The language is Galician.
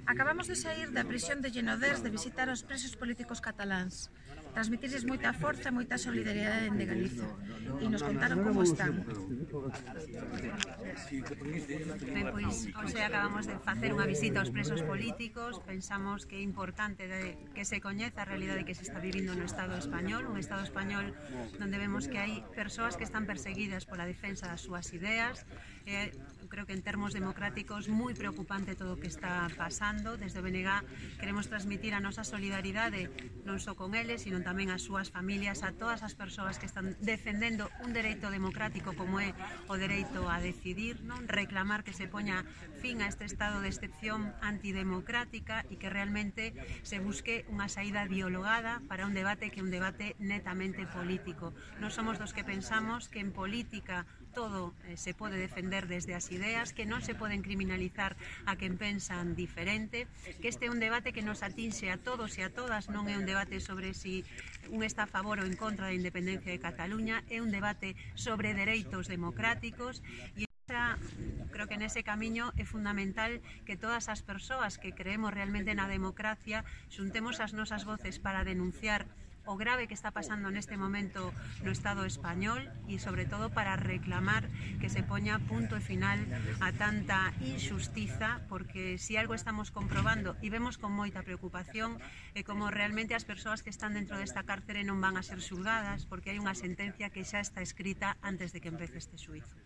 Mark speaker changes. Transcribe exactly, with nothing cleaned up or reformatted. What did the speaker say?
Speaker 1: Acabamos de saír da prisión de Llenodés de visitar os presos políticos cataláns. Transmitirles moita forza e moita solidariedade de Galiza. E nos contaron como están.
Speaker 2: Ben, pois, hoxe acabamos de facer unha visita aos presos políticos. Pensamos que é importante de, que se coñeza a realidade que se está vivindo no Estado español, un Estado español donde vemos que hai persoas que están perseguidas pola defensa das súas ideas. Eh, creo que en termos democráticos moi preocupante todo o que está pasando. Desde o B N G queremos transmitir a nosa solidaridade non só con eles, sino tamén ás súas familias, a todas as persoas que están defendendo un dereito democrático como é o dereito a decidir, non reclamar que se poña fin a este estado de excepción antidemocrática e que realmente se busque unha saída dialogada para un debate que é un debate netamente político. Non somos dos que pensamos que en política todo eh, se pode defender desde as ideas, que non se poden criminalizar a quen pensan diferente, que este é un debate que nos atinxe a todos e a todas, non é un debate sobre si un está a favor ou en contra da independencia de Cataluña, é un debate sobre dereitos democráticos e esa, creo que nese camiño é fundamental que todas as persoas que creemos realmente na democracia xuntemos as nosas voces para denunciar o grave que está pasando neste momento no Estado español e sobre todo para reclamar que se poña punto e final a tanta injustiza, porque si algo estamos comprobando e vemos con moita preocupación é como realmente as persoas que están dentro desta cárcere non van a ser xulgadas porque hai unha sentencia que xa está escrita antes de que empece este xuízo.